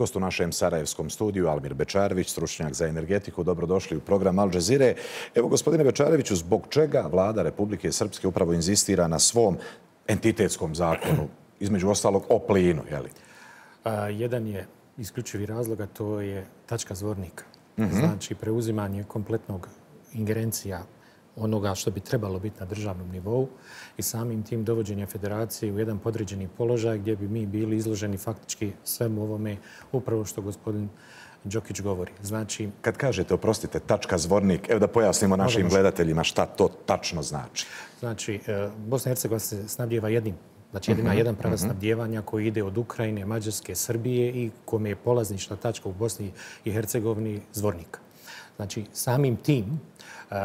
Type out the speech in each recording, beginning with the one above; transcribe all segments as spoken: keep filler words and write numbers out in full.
Gost u našem sarajevskom studiju Almir Bečarević, stručnjak za energetiku. Dobrodošli u program Al Jazeere. Evo, gospodine Bečareviću, zbog čega vlada Republike Srpske upravo inzistira na svom entitetskom zakonu, između ostalog o plinu, je li? A, jedan je isključivi razlog, a to je tačka zvornika. Mm-hmm. Znači, preuzimanje kompletnog ingerencija onoga što bi trebalo biti na državnom nivou i samim tim dovođenja federacije u jedan podređeni položaj gdje bi mi bili izloženi faktički svemu ovome upravo što gospodin Đokić govori. Znači, kad kažete, oprostite, tačka zvornik, evo da pojasnimo našim gledateljima šta to tačno znači. Znači, Bosna i Hercegovina se snabdijeva jednim. Znači, jedina mm-hmm. jedan pravac mm-hmm. snabdijevanja koji ide od Ukrajine, Mađarske, Srbije i kome je polaznična tačka u Bosni i Hercegovini zvornika. Znači, samim tim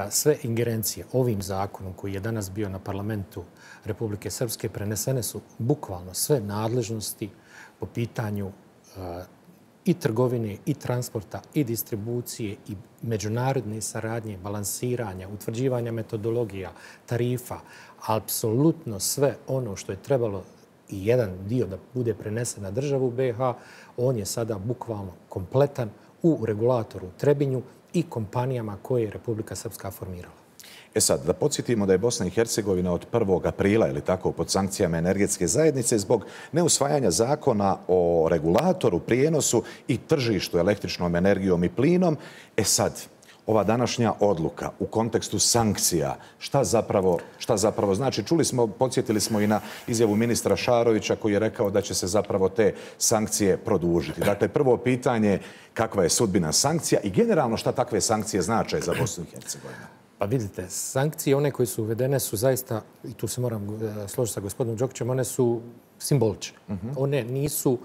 sve ingerencije ovim zakonom koji je danas bio na parlamentu Republike Srpske prenesene su bukvalno sve nadležnosti po pitanju i trgovine, i transporta, i distribucije, i međunarodne saradnje, balansiranja, utvrđivanja metodologija, tarifa, apsolutno sve ono što je trebalo i jedan dio da bude prenesen na državu B iH, on je sada bukvalno kompletan u regulatoru Trebinju i kompanijama koje je Republika Srpska formirala. E sad, da podsjetimo da je Bosna i Hercegovina od prvog aprila, ili tako, pod sankcijama energetske zajednice zbog neusvajanja zakona o regulatoru, prijenosu i tržištu električnom energijom i plinom. E sad, ova današnja odluka u kontekstu sankcija, šta zapravo, šta zapravo znači? Čuli smo, podsjetili smo i na izjavu ministra Šarovića koji je rekao da će se zapravo te sankcije produžiti. Dakle, prvo pitanje, kakva je sudbina sankcija i generalno šta takve sankcije znače za Bosnu i Hercegovinu? Pa vidite, sankcije, one koje su uvedene su zaista, i tu se moram složiti sa gospodinom Đokićem, one su simbolične. Mm-hmm. One nisu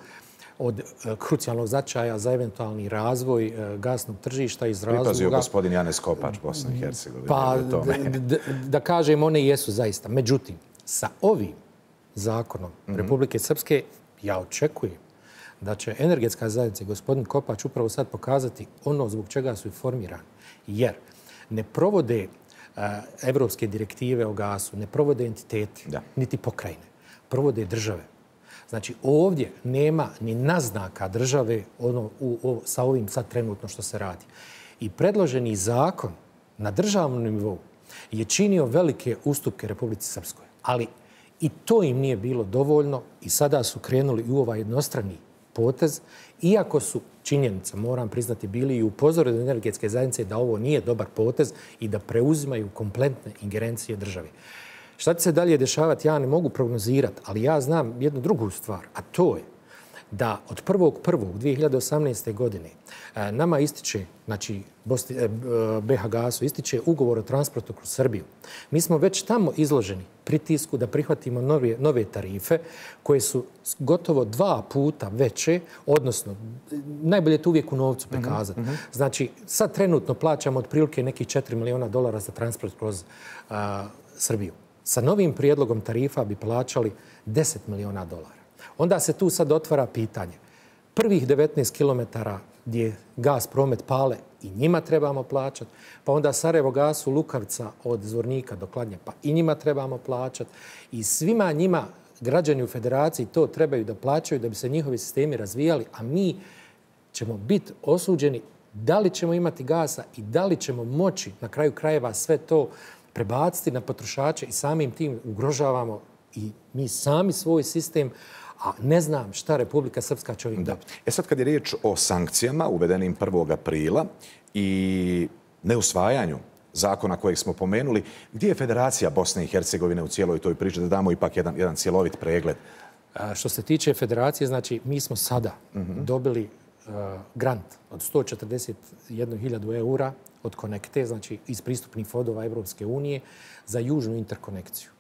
od krucijalnog značaja za eventualni razvoj gasnog tržišta iz razloga... Pripazio gospodin Janez Kopač, Bosna i Hercegovina. Pa, da, da kažem, one jesu zaista. Međutim, sa ovim zakonom mm-hmm. Republike Srpske ja očekujem da će energetska zajednica, gospodin Kopač, upravo sad pokazati ono zbog čega su i formirani. Jer ne provode uh, evropske direktive o gasu, ne provode entiteti, da. Niti pokrajine. Provode države. Znači, ovdje nema ni naznaka države ono, u, u, sa ovim sad trenutno što se radi. I predloženi zakon na državnom nivou je činio velike ustupke Republici Srpskoj. Ali i to im nije bilo dovoljno i sada su krenuli u ovaj jednostrani potez, iako su činjenica, moram priznati, bili i upozoreni energetske zajednice da ovo nije dobar potez i da preuzimaju kompletne ingerencije države. Šta će se dalje dešavati, ja ne mogu prognozirati, ali ja znam jednu drugu stvar, a to je da od prvog prvog dvije hiljade osamnaeste. godine nama ističe, znači B iH gasu, ističe ugovor o transportu kroz Srbiju. Mi smo već tamo izloženi pritisku da prihvatimo nove, nove tarife koje su gotovo dva puta veće, odnosno najbolje je to uvijek u novcu prikazati. Mm-hmm. Znači, sad trenutno plaćamo otprilike nekih četiri miliona dolara za transport kroz uh, Srbiju. Sa novim prijedlogom tarifa bi plaćali deset miliona dolara. Onda se tu sad otvara pitanje. Prvih devetnaest kilometara gdje gas promet pale i njima trebamo plaćati, pa onda Sarajevo gasu Lukavca od Zvornika do Kladnja, pa i njima trebamo plaćati. I svima njima građani u federaciji to trebaju da plaćaju da bi se njihovi sistemi razvijali, a mi ćemo biti osuđeni da li ćemo imati gasa i da li ćemo moći na kraju krajeva sve to prebaciti na potrošače i samim tim ugrožavamo i mi sami svoj sistem, a ne znam šta Republika Srpska će ovim dobiti. E sad kad je riječ o sankcijama uvedenim prvog aprila i neusvajanju zakona kojeg smo pomenuli, gdje je Federacija Bosne i Hercegovine u cijeloj toj priči, da damo ipak jedan, jedan cjelovit pregled? A, što se tiče Federacije, znači mi smo sada mm-hmm. dobili uh, grant od sto četrdeset jednu hiljadu eura od Konekte, znači iz pristupnih fondova Evropske unije za južnu interkonekciju.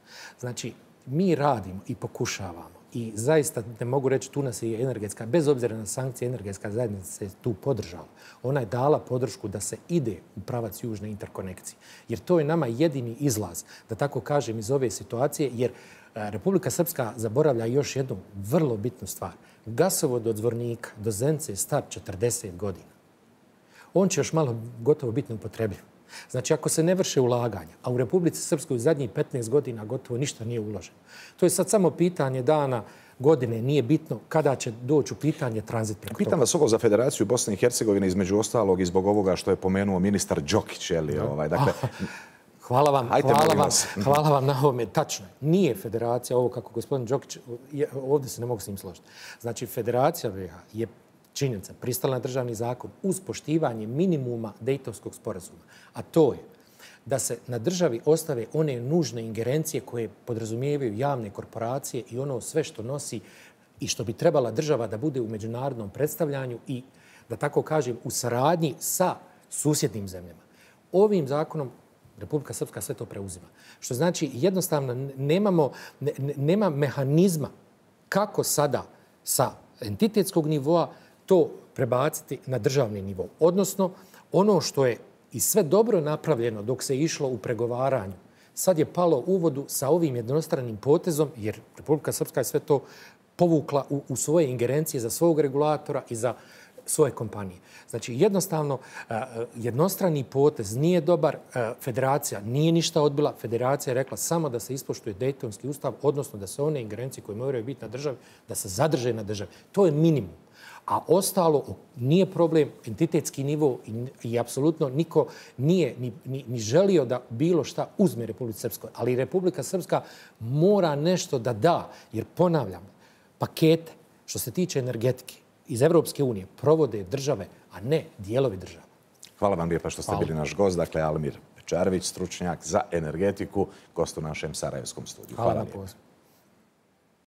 Znači, mi radimo i pokušavamo i zaista ne mogu reći, tu nas je energetska, bez obzira na sankcije, energetska zajednica se tu podržala. Ona je dala podršku da se ide u pravac južne interkonekcije. Jer to je nama jedini izlaz, da tako kažem, iz ove situacije, jer Republika Srpska zaboravlja još jednu vrlo bitnu stvar. Gasovod od Zvornika do Zenice je star četrdeset godina. On će još malo gotovo biti neupotrebljiv. Znači, ako se ne vrše ulaganja, a u Republici Srpskoj u zadnjih petnaest godina gotovo ništa nije uloženo. To je sad samo pitanje dana godine, nije bitno kada će doći u pitanje tranzit preko toga. Pitam vas ovo za Federaciju Bosne i Hercegovine, između ostalog i zbog ovoga što je pomenuo ministar Đokić. Ovaj, dakle, Hvala vam, hvala vam, hvala vam na ovome. Tačno, nije federacija ovo kako gospodin Đokić, ovdje se ne mogu s njim složiti. Znači, Federacija B iH je činjenica, pristala na državni zakon uz poštivanje minimuma Dejtonskog sporazuma. A to je da se na državi ostave one nužne ingerencije koje podrazumijevaju javne korporacije i ono sve što nosi i što bi trebala država da bude u međunarodnom predstavljanju i, da tako kažem, u saradnji sa susjednim zemljama. Ovim zakonom Republika Srpska sve to preuzima. Što znači jednostavno nemamo, ne, nema mehanizma kako sada sa entitetskog nivoa to prebaciti na državni nivo. Odnosno, ono što je i sve dobro napravljeno dok se išlo u pregovaranju, sad je palo u vodu sa ovim jednostranim potezom, jer Republika Srpska je sve to povukla u, u svoje ingerencije za svog regulatora i za svoje kompanije. Znači, jednostavno, jednostrani potez nije dobar. Federacija nije ništa odbila. Federacija je rekla samo da se ispoštuje Dejtonski ustav, odnosno da se one ingerencije koje moraju biti na državi, da se zadrže na državi. To je minimum. A ostalo nije problem, entitetski nivo i, i apsolutno niko nije ni, ni, ni želio da bilo šta uzme Republici Srpskoj. Ali Republika Srpska mora nešto da da, jer ponavljam, pakete što se tiče energetike iz Evropske unije provode države, a ne dijelovi država. Hvala vam lijepa što ste Hvala. bili naš gost. Dakle, Almir Pečarević, stručnjak za energetiku, gost u našem sarajevskom studiju. Hvala, Hvala vam.